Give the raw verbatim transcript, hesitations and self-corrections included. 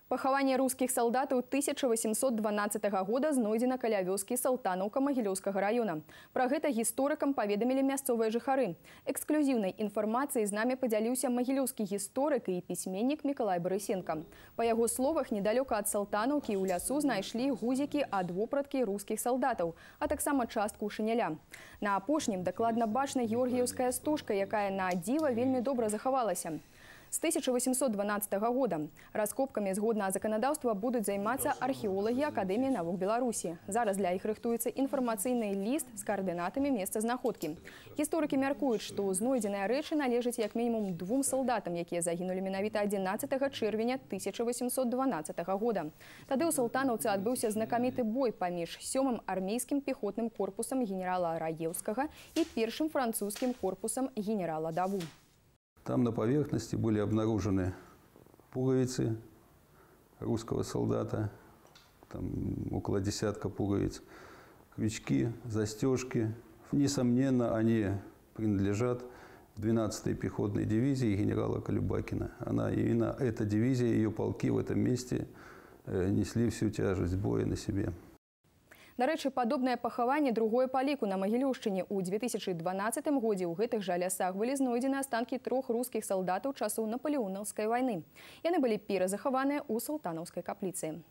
Пахаванне рускіх салдатаў тысяча восемьсот дванаццатага года знойдзена каля вёскі Салтанаўка Магілёўскага района. Пра гэта гісторыкам паведамілі мясцовыя жыхары. Эксклюзіўнай інфармацыяй з намі падзяліўся магілёўскі гісторык і пісьменнік Мікалай Барысенка. Па яго словах, недалёка ад Салтанаўкі ў лясу знайшлі гузікі ад вопраткі рускіх салдатаў, а таксама частку шыняля. На апошнім дакладна бачна георгіеўская стужка, якая на дзіва вельмі добра захавалася. З тысяча восемьсот дванаццатага года раскопкамі згодна заканадаўства будуць займацца археолагі Акадэміі навук Беларусі. Зараз для іх рыхтуецца інфармацыйны ліст з каардынатамі месца знаходкі. Гісторыкі мяркуюць, што знойдзеныя рэчы належаць як мінімум двум салдатам, якія загінулі менавіта адзінаццатага чэрвеня тысяча восемьсот дванаццатага года. Тады ў Салтанаўцы адбыўся знакаміты бой паміж сёмым армейскім пехотным корпусам генерала Раеўскага і першым французскім корпусам генерала Даву. Там на поверхности были обнаружены пуговицы русского солдата, там около десятка пуговиц, крючки, застежки. Несомненно, они принадлежат двенадцатой пехотной дивизии генерала Колюбакина. Она, именно эта дивизия, ее полки в этом месте несли всю тяжесть боя на себе. Дарэчы, падобнае пахаванне другое па ліку на Магілёўшчыне. У две тысячи дванаццатым годзе ў гэтых жа лясах былі знойдзены астанкі трох рускіх салдатаў часоў напалеонаўскай вайны. Яны былі перазахаваныя ў салтанаўскай капліцы.